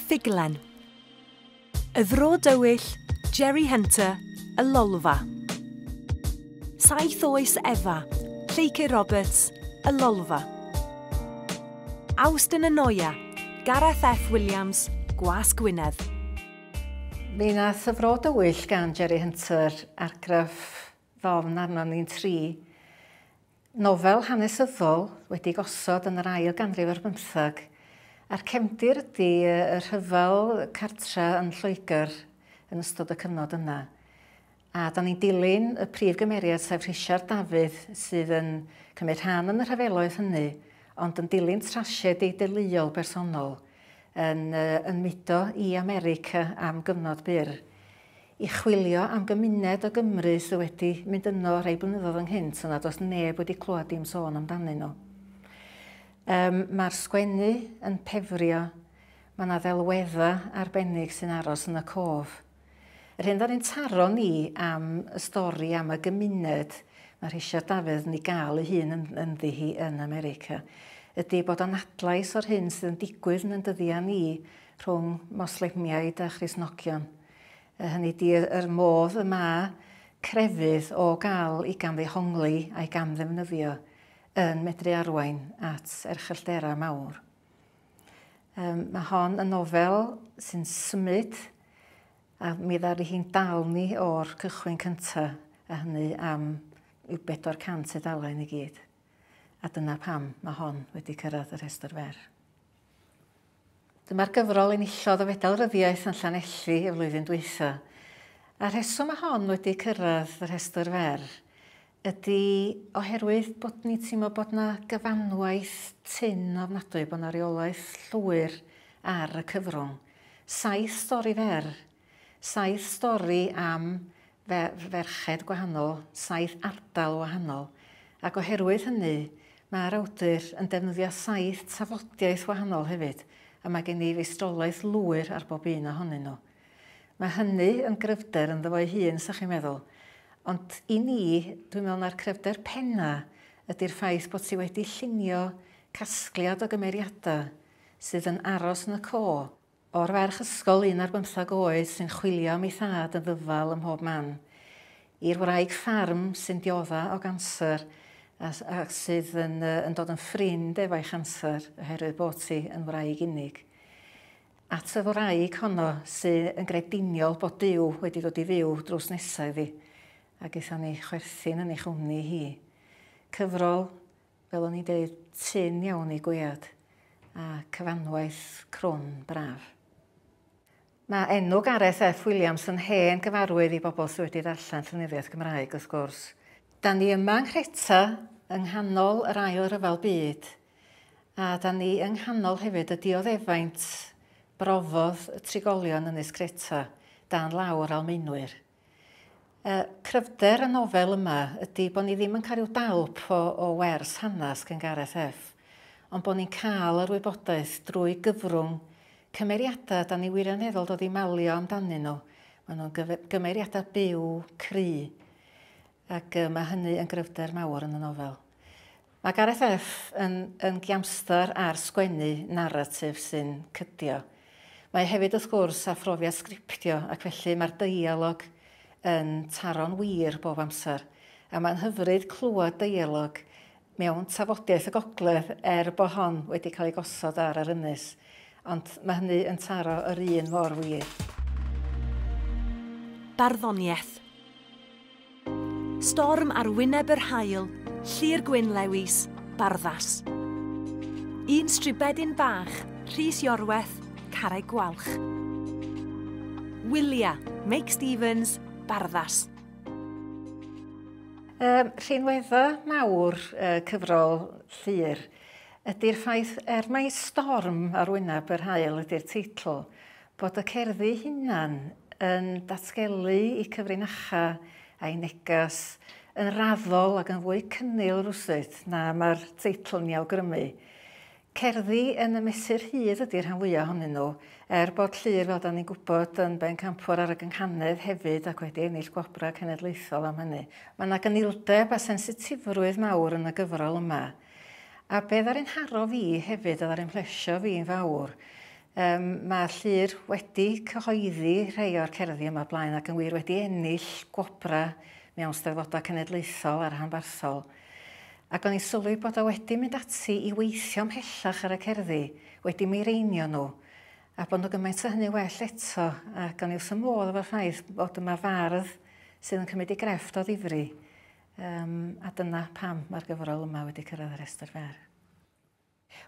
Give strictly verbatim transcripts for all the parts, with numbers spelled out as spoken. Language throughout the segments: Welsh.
Ffuglen. Y Fro Dywyll, Jerry Hunter, Y Lolfa. Saith Oes Efa, Lleucu Roberts, Y Lolfa. Awst yn y Noia, Gareth F Williams, Gwasg Gwynedd. Mi nath Y Fro Dywyll gan Jerry Hunter argraff ddofn arno ni'n tri. Nofel hanesyddol wedi gosod yn yr ail ganrif ar bymthag. A'r cefndir ydy y rhyfel cartra yn Lloegr yn ystod y cyfnod yna. A da ni'n dilyn y prif gymeriad, sef Rhisiart Dafydd, sydd yn cymryd rhan yn y rhyfeloedd hynny, ond yn dilyn trasiedi deuluol bersonol yn, yn mudo i America am gyfnod byr i chwilio am gymuned o Gymru sydd wedi mynd yno rhai blynyddoedd ynghynt, yna does neb wedi clywed dim sôn amdanyn nhw. Um, Mae'r sgwennu yn pefrio, mae yna ddelweddau arbennig sy'n aros yn y cof. Yr hyn ddaru'n taro ni am y stori am y gymuned mae Rhisiart Dafydd yn ei gael ei hun yn, ynddi hi yn America, ydy bod o'n adlais o'r hyn sydd yn digwydd yn dyddiau ni rhwng Moslemiaid a Christnogion. Hynny ydy yr modd y mae crefydd o gael ei gamddehongli a'i gamddefnyddio yn medru arwain at erchyllterau mawr. Um, mae hon yn nofel sy'n symud a mi ddaru hi'n dal ni o'r cychwyn cyntaf, a hynny am yw bedwar cant tudalen i gyd. A dyna pam mae hon wedi cyrraedd y rhestr fer. Dyma'r gyfrol enillodd y Fedal Ryddiaith yn Llanelli y flwyddyn dwytha. A'r rheswm mae hon wedi cyrraedd y rhestr fer ydy oherwydd bod ni'n teimlo bod yna gyfanwaith tynn ofnadwy, bod yna reolaeth llwyr ar y cyfrwng. Saith stori fer, saith stori am ferched gwahanol, saith ardal wahanol. Ac oherwydd hynny, mae'r awdur yn defnyddio saith tafodiaeth wahanol hefyd, a mae gen i feistrolaeth lwyr ar bob un ohonyn nhw. Mae hynny yn gryfder ynddo fo'i hun, sa chi'n meddwl. Ond i ni, dwi'n meddwl na'r cryfder penna ydy'r ffaith bod ti wedi llunio casgliad o gymeriadau sydd yn aros yn y co. O'r ferch ysgol un ar bymthag oed sy'n chwilio am ei thad yn ddyfal ym mhob man, i'r wraig ffarm sy'n diodda o ganser a, a sydd yn, yn dod yn ffrind efo'i chanser oherwydd bod hi yn wraig unig. At y wraig honno sydd yn grediniol bod Duw wedi dod i fyw drws nesaf iddi, ac aethon ni chwerthin yn ei chwmni hi. Cyfrol, fel o'n i'n dweud, tynn iawn i gwead, a cyfanwaith crwn braf. Mae enw Gareth F Williams yn hen gyfarwydd i bobl sydd wedi darllen llenyddiaeth Gymraeg, wrth gwrs. Da ni yma yng Nghreta, yng nghanol yr ail ryfel byd, a da ni yng nghanol hefyd y dioddefaint brofodd y trigolion Ynys Creta dan lawr Almaenwyr. Uh, cryfder y nofel yma ydy bod ni ddim yn cael rhyw dalp o, o wers hanes gan Gareth F, ond bod ni'n cael yr wybodaeth drwy gyfrwng cymeriadau da ni wirioneddol dod i malio amdanyn nhw. Maen nhw'n gymeriadau byw, cry, ac uh, mae hynny yn gryfder mawr yn y nofel. Mae Gareth F yn, yn giamstar ar sgwennu naratif sy'n cydio. Mae hefyd wrth gwrs â phrofiad sgriptio, ac felly mae'r deialog yn taro'n wir bob amser. A mae'n hyfryd clywed deialog mewn tafodiaeth y gogledd er bod hon wedi cael ei gosod ar yr ynys. Ond mae hynny yn taro yr un mor wir. Barddoniaeth. Storm ar wyneb yr haul, Llyr Gwyn Lewis, Barddas. Un stribedyn bach, Rhys Iorwerth, Carreg Gwalch. Wylia, Meic Stevens, Barddas. Um, rhinweddau mawr uh, cyfrol Llyr ydy'r ffaith, er mai Storm ar wyneb yr haul ydy'r teitl, bod y cerddi hunan yn datgelu i cyfrinacha a'i negas yn raddol ac yn fwy cynnil rwsut na mae'r teitl yn ei awgrymu. Cerddi yn y mesur hyd ydy'r rhan fwyaf ohonyn nhw, er bod Llyr, fel da ni'n gwybod, yn bencampwr ar y gynghanedd hefyd ac wedi ennill gwobrau cenedlaethol am hynny. Mae yna gynildeb a sensitifrwydd mawr yn y gyfrol yma. A be ddaru'n haro fi hefyd, a ddaru'n plesio fi'n fawr, Um, mae Llyr wedi cyhoeddi rhai o'r cerddi yma blaen ac yn wir wedi ennill gwobra mewn steddfodau cenedlaethol a rhanbarthol. Ac o'n i'n sylwi bod o wedi mynd ati i weithio ymhellach ar y cerddi, wedi mireinio nhw, a bod nhw gymaint o hynny well eto, ac o'n i wrth y modd efo'r ffaith bod yma fardd sydd yn cymryd ei grefft o ddifri. Um, a dyna pam mae'r gyfrol yma wedi cyrraedd y rhestr fer.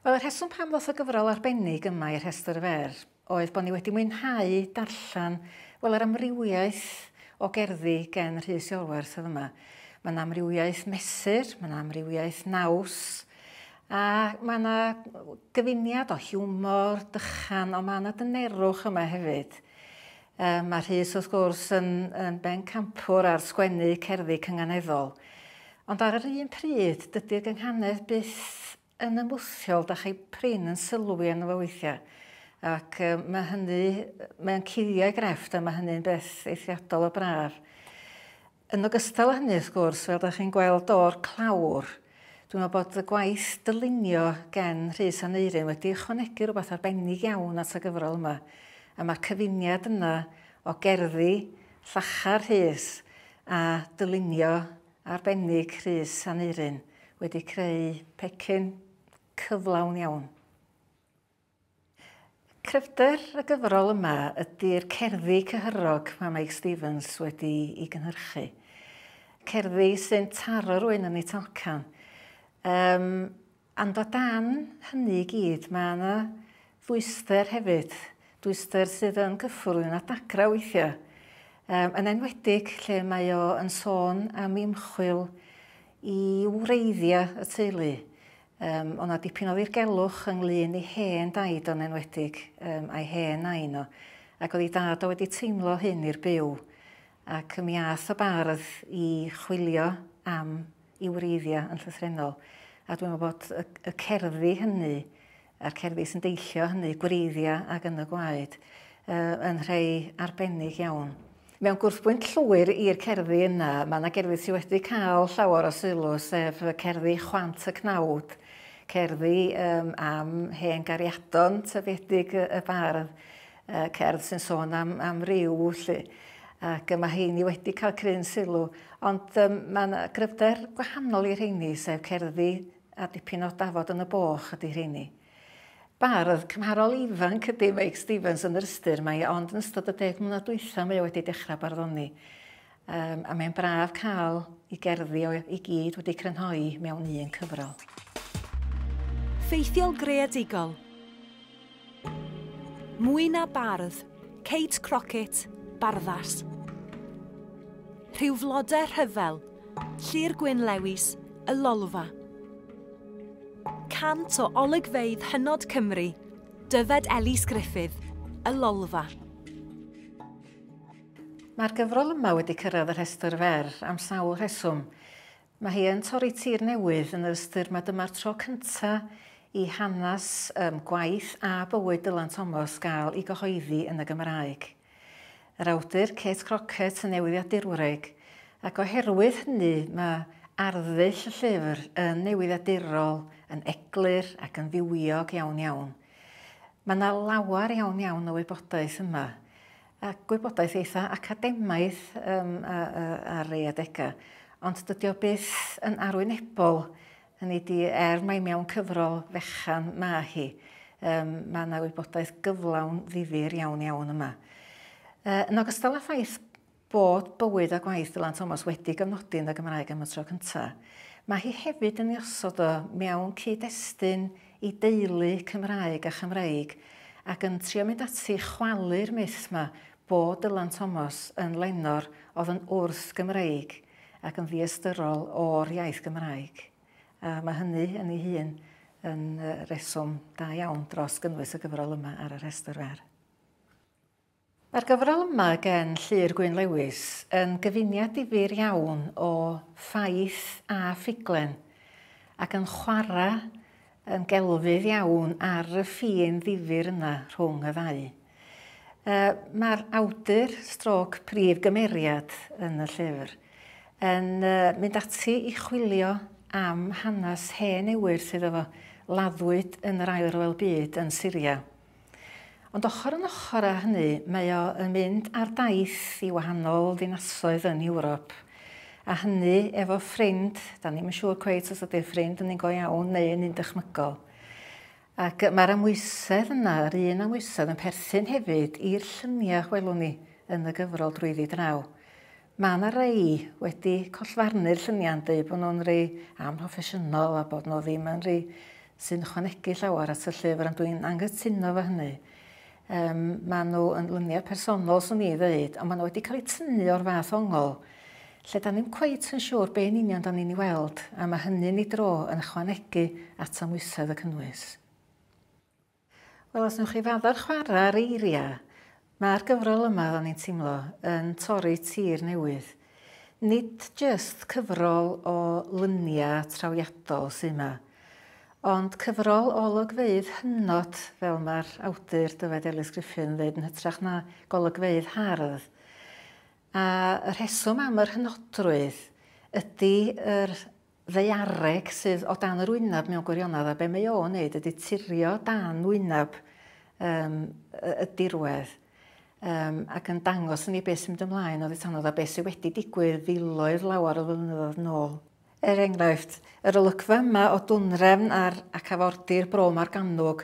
Wel, y rheswm pam ddoth y gyfrol arbennig yma i'r rhestr fer oedd bod ni wedi mwynhau darllen, wel, yr amrywiaeth o gerddi gen Rhys Iorwerth oedd yma. Mae yna amrywiaeth mesur, mae yna amrywiaeth naws, a mae yna gyfuniad o hiwmor, dychan, ond mae yna dynerwch yma hefyd. Um, mae Rhys, wrth gwrs, yn, yn bencampwr ar sgwennu cerddi cynganeddol. Ond ar yr un pryd, dydy'r gynghanedd byth yn ymwthiol, da chi prin yn sylwi arno fo weithiau. Ac um, mae hynny, mae'n cuddio ei grefft a mae hynny'n beth eithriadol o braf. Yn ogystal â hynny, wrth gwrs, fel da chi'n gweld o'r clawr, dwi'n meddwl bod y gwaith dylunio gen Rhys Aneurin wedi ychwanegu rhywbeth arbennig iawn at y gyfrol yma. A mae'r cyfuniad yna o gerddi llachar Rhys a dylunio arbennig Rhys Aneurin wedi creu pecyn cyflawn iawn. Cryfder y gyfrol yma ydy'r cerddi cyhyrog mae Meic Stevens wedi ei gynhyrchu. Cerddi sy'n taro rhywun yn ei talcan. Um, ond o dan hynny i gyd, mae yna ddwyster hefyd. Dwyster sydd yn gyffwrdd yn dagra weithiau. Um, yn enwedig lle mae o yn sôn am ymchwil i wreiddiau y teulu. Um, o' 'na dipyn o ddirgelwch ynglyn i hen daid o'n enwedig, um, a'i hen nain o. Ac oedd ei dad o wedi teimlo hyn i'r byw. Ac mi ath y bardd i chwilio am i wreiddiau yn llythrennol. A dwi'n meddwl bod y, y cerddi hynny, a'r cerddi sy'n deillio hynny, gwreiddiau ac yn y gwaed, uh, yn rhai arbennig iawn. Mewn gwrthbwynt llwyr i'r cerddi yna, mae yna gerddi sydd wedi cael llawer o sylw, sef cerddi Chwant y Cnawd, cerddi um, am hen gariadon tyfiedig y, y bardd, uh, cerdd sy'n sôn am, am ryw, lly. Ac mae heini wedi cael cryn sylw. Ond um, mae yna gryfder gwahanol i'r rheini, sef cerddi a dipyn o dafod yn y boch ydy rheini. Bardd cymharol ifanc ydy Meic Stevens yn yr ystyr, mae ond yn ystod y deg mlynedd dwytha mae o wedi dechrau barddoni. Um, a mae'n braf cael ei gerddi o i gyd wedi crynhoi mewn un cyfrol. Ffeithiol greadigol. Mwy na bardd, Kate Crockett, Barddas. Rhyw flodau rhyfel, Llyr Gwyn Lewis, Y Lolfa. Cant o olygfeydd hynod Cymru, Dyfed Elis Gruffydd, Y Lolfa. Mae'r gyfrol yma wedi cyrraedd y rhestr fer am sawl rheswm. Mae hi yn torri tir newydd yn yr ystyr mae dyma'r tro cyntaf i hanes um, gwaith a bywyd Dylan Thomas gael ei gyhoeddi yn y Gymraeg. Yr awdur Kate Crockett yn newyddiadurwraig, ac oherwydd hynny mae arddull y llyfr yn newyddiadurol, yn eglur ac yn fywiog iawn iawn. Mae yna lawer iawn iawn o wybodaeth yma, a gwybodaeth eitha academaidd um, ar ei adegau, ond dydy o byth yn arwynebol, hynny ydi er mai mewn cyfrol fechan ma hi, um, mae yna wybodaeth gyflawn ddifyr iawn iawn yma. Uh, yn ogystal â ffaith bod bywyd a gwaith Dylan Thomas wedi gyfnodi yn y Gymraeg am y tro cyntaf, mae hi hefyd yn ei osod o mewn cyd-destun i deulu Cymraeg a Chymreig ac yn trio mynd ati chwalu'r myth yma bod Dylan Thomas yn lenor oedd yn wrth Gymreig ac yn ddiystyrol o'r iaith Gymraeg. A mae hynny yn ei hun yn reswm da iawn dros gynnwys y gyfrol yma ar y rhestr fer. Mae'r gyfrol yma gen Llyr Gwyn Lewis yn gyfuniad difyr iawn o ffaith a ffuglen ac yn chwarae yn gelfydd iawn ar y ffin ddifyr yna rhwng y ddau. Mae'r awdur stroc prif gymeriad yn y llyfr yn mynd ati i chwilio am hanes hen ewyr sydd efo laddwyd yn yr Ail Ryfel Byd yn Syria. Ond ochr yn ochr â hynny, mae o yn mynd ar daith i wahanol ddinasoedd yn Ewrop. A hynny efo ffrind, da ni'm yn siŵr cweit os ydy'r ffrind yn un go iawn neu yn un dychmygol. Ac mae'r amwysedd yna, yr un amwysedd, yn perthyn hefyd i'r lluniau welwn ni yn y gyfrol drwyddi draw. Mae yna rei wedi collfarnu'r lluniau'n dweud bod nhw'n rei amhroffesiynol a bod nhw ddim yn rei sy'n ychwanegu llawer at y llyfr, ond dwi'n anghytuno fo hynny. Um, maen nhw yn luniau personol, swn i ddweud, ond maen nhw wedi cael eu tynnu o'r fath ongl, lle da ni'm cweit yn siŵr be yn union da ni'n ei weld, a mae hynny'n ei dro yn ychwanegu at amwysedd y cynnwys. Wel, os newch chi fadda'r chwarae ar eiriau, mae'r gyfrol yma, oedden ni'n teimlo, yn torri tir newydd. Nid jyst cyfrol o luniau trawiadol sydd yma, ond cyfrol o olygfeydd hynod, fel mae'r awdur Dyfed Elis Gruffydd yn dweud, yn hytrach na golygfeydd hardd. A y rheswm am yr hynodrwydd ydy yr ddaeareg sydd o dan yr wyneb mewn gwirionedd, a be mae o'n wneud ydy turio dan wyneb um, y, y dirwedd um, ac yn dangos i ni beth sy'n mynd ymlaen oddi tanodd a beth sydd wedi digwydd filoedd lawer o flynyddoedd nôl. Er enghraifft, yr olygfa yma o Dwnrefn ar ac afordir Bro Morgannwg,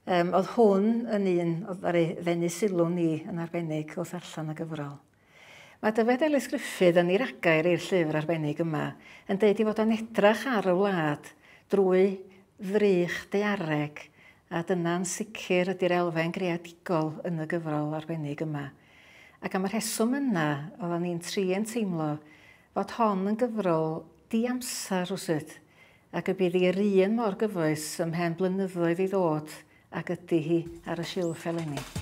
um, oedd hwn yn un oedd ar ei ddenu sylw ni yn arbennig wrth darllen y gyfrol. Mae Dyfed Elis Gruffydd yn ei ragair i'r llyfr arbennig yma yn deud ei fod o'n edrach ar y wlad drwy ddrych daeareg, a dyna'n sicr ydy'r elfen greadigol yn y gyfrol arbennig yma. Ac am y rheswm yna, oedden ni'n tri yn teimlo fod hon yn gyfrol diamser rywsut, ac y bydd hi'r un mor gyfoes ymhen blynyddoedd i ddod ag ydy hi ar y silff eleni.